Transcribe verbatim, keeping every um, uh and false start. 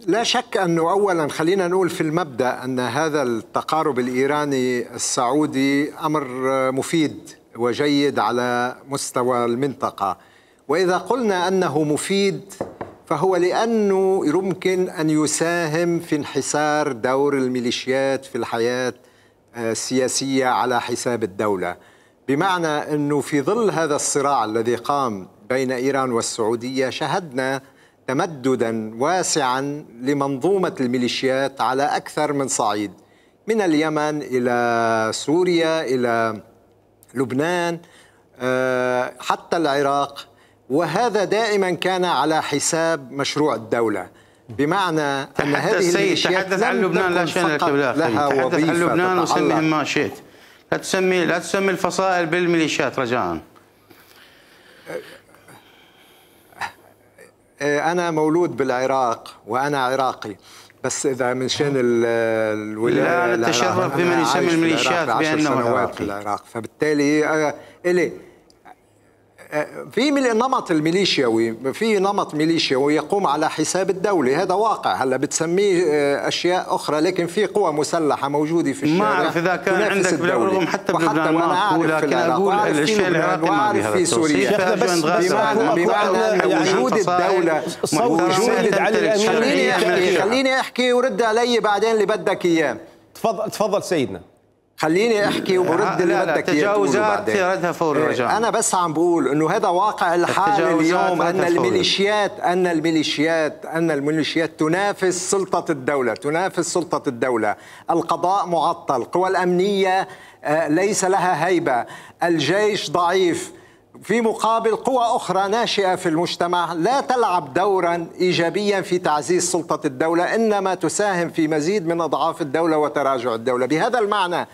لا شك أنه أولا خلينا نقول في المبدأ أن هذا التقارب الإيراني السعودي أمر مفيد وجيد على مستوى المنطقة، وإذا قلنا أنه مفيد فهو لأنه يمكن أن يساهم في انحسار دور الميليشيات في الحياة السياسية على حساب الدولة، بمعنى أنه في ظل هذا الصراع الذي قام بين إيران والسعودية شهدنا تمددا واسعا لمنظومة الميليشيات على أكثر من صعيد، من اليمن إلى سوريا إلى لبنان حتى العراق، وهذا دائما كان على حساب مشروع الدولة، بمعنى أن هذه الميليشيات تحدث عن لبنان لا شأن لك لها تحدث عن لبنان وسميهم ما شئت، لا تسمي لا تسمي الفصائل بالميليشيات رجاء. أنا مولود بالعراق وأنا عراقي، بس إذا من شأن الولاية لا نتشرف بمن يسمي الميليشيات بأنه سنوات في العراق، فبالتالي إلي في نمط الميليشياوي، في نمط ميليشياوي يقوم على حساب الدولة، هذا واقع. هلا بتسميه أشياء أخرى، لكن في قوى مسلحة موجودة في الشارع. ما أعرف إذا كان عندك بالرغم حتى بلبنان ما أقول، لكن أقول الشيء العراقي ما بهذا التوصيف. بمعنى وجود الدولة، وجود خليني خليني أحكي ورد علي بعدين اللي بدك إياه. تفضل تفضل سيدنا. خليني احكي وبرد اللي بدك اياه. تجاوزات ردها فور رجاء. انا بس عم بقول انه هذا واقع الحال اليوم، ان الميليشيات ان الميليشيات ان الميليشيات تنافس سلطة الدولة، تنافس سلطة الدولة، القضاء معطل، القوى الأمنية ليس لها هيبة، الجيش ضعيف، في مقابل قوى أخرى ناشئة في المجتمع لا تلعب دورا إيجابيا في تعزيز سلطة الدولة، إنما تساهم في مزيد من أضعاف الدولة وتراجع الدولة. بهذا المعنى